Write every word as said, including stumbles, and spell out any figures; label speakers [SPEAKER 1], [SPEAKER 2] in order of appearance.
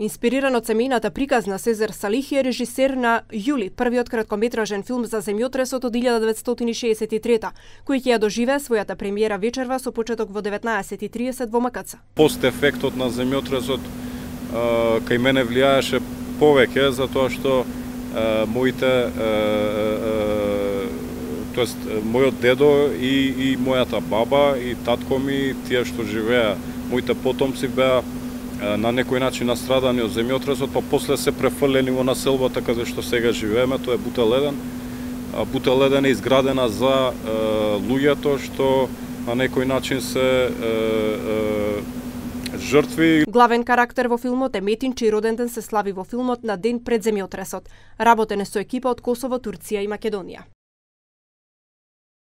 [SPEAKER 1] Инспириран од семејната приказна, Сезар Салихи е режисер на Јули, првиот краткометражен филм за земјотресот од илјада деветстотини шеесет и трета, кој ќе ја доживее својата премиера вечерва со почеток во деветнаесет и тридесет во МКЦ.
[SPEAKER 2] Постефектот на земјотресот кај мене влијаеше повеќе, затоа што а, моите, а, а, тоест мојот дедо и, и мојата баба и татко ми, тие што живеа, моите потомци беа на некој начин настрадани од земјотресот, па после се префрлени во населбата каде што сега живееме, тоа е Бутел еден. Бутел еден е изградена за е, луѓето што на некој начин се е, е, жртви.
[SPEAKER 1] Главен карактер во филмот е Метин, чиј роден ден се слави во филмот на ден пред земјотресот. Работен е со екипа од Косово, Турција и Македонија.